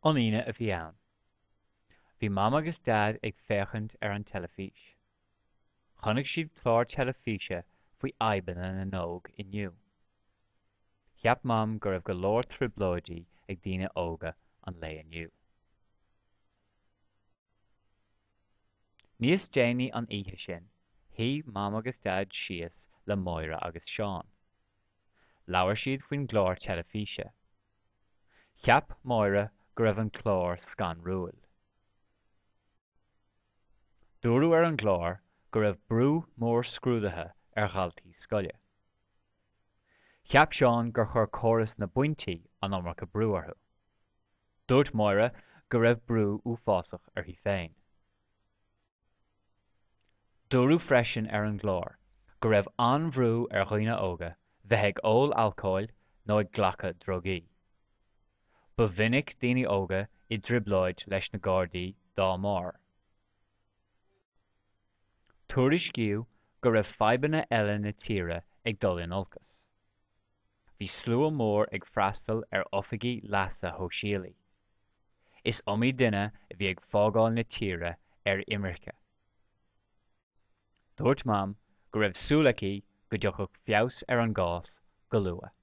An Aoine a bhí ann. Bhí Mam agus Daid ag féachaint ar an teilifís. Chonaic siad clár teilifíse faoi fhadhbanna na n-óg inniu. Cheap Mam go raibh go leor trioblóidí ag daoine óga an lae inniu. Níos déanaí an oíche sin, shuigh Mam agus Daid síos le Máire agus Seán. Labhair siad faoin gclár teilifíse. Cheap Máire go raibh an clár scanrúil. Dúradh ar an gclár go raibh brú mór scrúduithe ar dhaltaí scoile. Cheap Seán gur chuir córas na bpointí an iomarca brú orthu. Dúirt Máire go raibh brú uafásach uirthi féin. Dúradh freisin ar an gclár go raibh an-bhrú ar dhaoine óga bheith ag ól alcóil nó ag glacadh drugaí. Ba mhinic daoine óga i dtrioblóid leis na Gardaí dá mbarr. Tuairiscíodh go raibh fadhbanna eile na tíre ag dul in olcas. Bhí slua mór ag freastal ar oifigí leasa shóisialaigh. Is iomaí duine a bhí ag fágáil na tíre ar imirce. Dúirt Mam go raibh súil aici go dtiocfadh feabhas ar an gcás go luath.